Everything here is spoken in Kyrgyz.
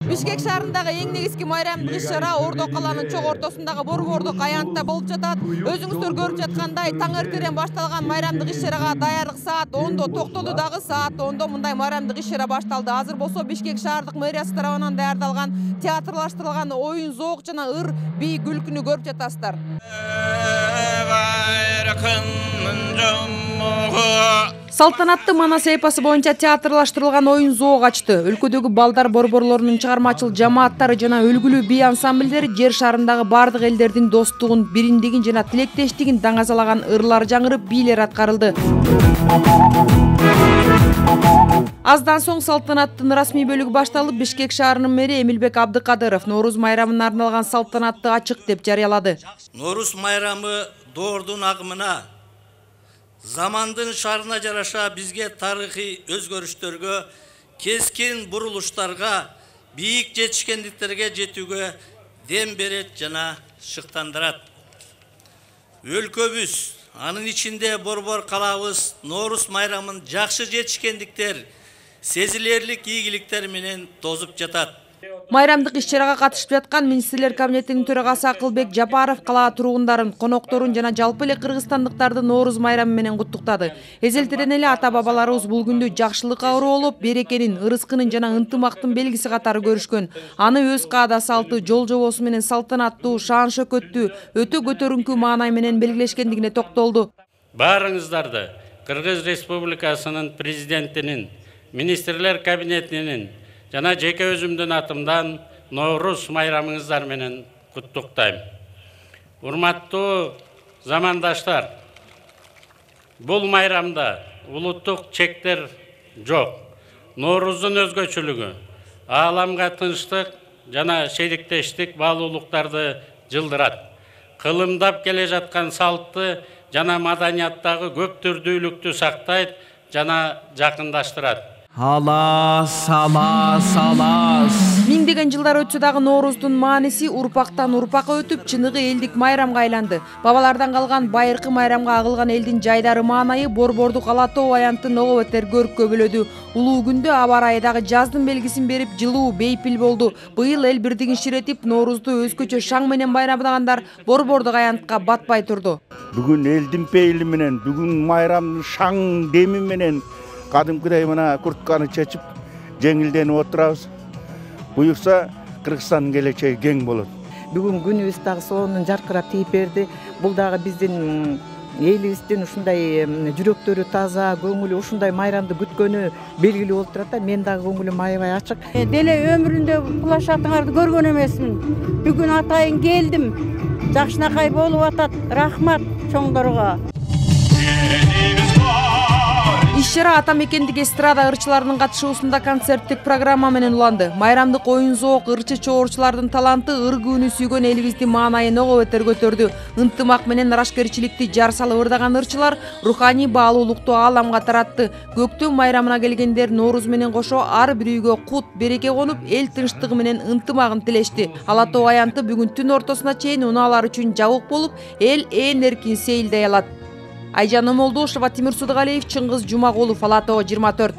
Бишкек шаарындагы эң негизги майрамдык иш-чара Ордо каланын чоң ортосундагы Борбордук аянтта болуп жатат. Өзүңүздөр көрүп жаткандай таң эртеден башталган майрамдык иш-чарага даярдык саат 10-до токтоду дагы саат 10-до мындай майрамдык иш-чара башталды. Азыр болсо Бишкек шаардык мэриясы тарабынан даярдалган театрлаштырылган оюн зоок жана ыр бий күлкүнү көрүп жатасыздар. Салтанатты Манас эпосу боюнча театрлаштырылган оюн зоок ачты. Өлкөдөгү балдар борборлорунун чыгармачыл жамааттары жана өлгүлүү бий ансамбльдери жер шарындагы бардык элдердин достугун, бириндигин жана тилектештигин даңазалаган ырлар жаңырып, бийлер аткарылды. Аздан соң салтанаттын расмий бөлүгү башталып, Бишкек шаарынын мэри Эмилбек Абдыкадыров Норуз майрамына арналган салтанатты ачык деп жарыялады. Норуз майрамы доордун агымына, замандын шарына жараша бизге тарыхый өзгөрүштөргө, кескин бурулуштарга, бийик жетишкендиктерге жетүүгө дем берет жана шыктандырат. Өлкөбүз, анын ичинде Борбор калабыз Норуз майрамын жакшы жетишкендиктер, сезилерлик ийгиликтер менен тозуп жатат. Майрамдык иш-чарага катышып жаткан министрлер кабинетинин төрагасы Акылбек Жапаров кала тургундарын, конокторун жана жалпы эле кыргызстандыктарды Норуз майрамы менен куттуктады. Эзелтеден эле ата-бабаларыбыз бул күндү жакшылыкка уруулуп, берекенин, ырыскынын жана ынтымактын белгиси катары көрүшкөн. Аны өз каада салты, жол жобосу менен салтанаттуу, шаан шөкөттүү, өтө көтөрүнкү маанай менен белгилешкендигине токтолду. Баарыңыздарды Кыргыз Республикасынын президентинин, министрлер кабинетинин жана жеке өзүмдүн атымдан Норуз майрамыңыздар менен куттуктайм. Урматтуу замандаштар, бул майрамда улуттук чектер жок. Норуздун өзгөчөлүгү ааламга тынчтык жана шериктештик баалуулуктарды жылдырат. Кылымдап келе жаткан салтты жана маданияттагы көп түрдүүлүктү сактайт жана жакындаштырат. Алас. Миңдеген жылдар өтсө дагы Норуздун мааниси урпактан урпакка өтүп, чыныгы элдик майрамга айланды. Бабалардан калган байыркы майрамга агылган элдин жайдары маанайы Борбордук Ала Тоо аянтын ого бетер көрккө бөлөдү. Улуу күндө аба ырайы дагы жаздын белгисин берип, жылуу, бейпил болду. Быйыл эл бирдигин ширетип, Норузду өзгөчө шаң менен байрамдагандар Борбордук аянтка батпай турду. Бүгүн элдин пейили менен, бүгүн майрамдын шаң деми менен кадымкыдай мына куртканы чечип, жеңилденип отурабыз. Буюрса, Кыргызстандын келечеги кең болот. Бүгүн күнүбүз дагы сонун жаркырап тийип берди. Бул дагы биздин элибиздин ушундай жүрөктөрү таза, көңүлү ушундай майрамды күткөнү белгилүү болуп турат да. Мен дагы көңүлүм аябай ачык. Деле өмүрүндө булашатыңарды көргөн эмесмин. Бүгүн атайын келдим. Жакшынакай болуп атат. Рахмат чоңдорго. Иш-чара ата мекендик эстрада ырчыларынын катышуусунда концерттик программа менен уланды. Майрамдык оюн зоок ырчы чоорчулардын таланты ыр күнү сүйгөн элибиздин маанайын ого бетер көтөрдү. Ынтымак менен арашкерчиликти жар салып ырдаган ырчылар руханий баалуулукту ааламга таратты. Көктөм майрамына келгендер Норуз менен кошо ар бир үйгө кут, береке конуп, эл тынчтыгы менен ынтымагын тилешти. Ала Тоо аянты бүгүн түн ортосуна чейин унаалар үчүн жабык болуп, эл ээн эркин сейилдей алат. Айжан Омолдошова, Тимир Судугалиев, Чыңгыз Жумагулов, Ала Тоо 24.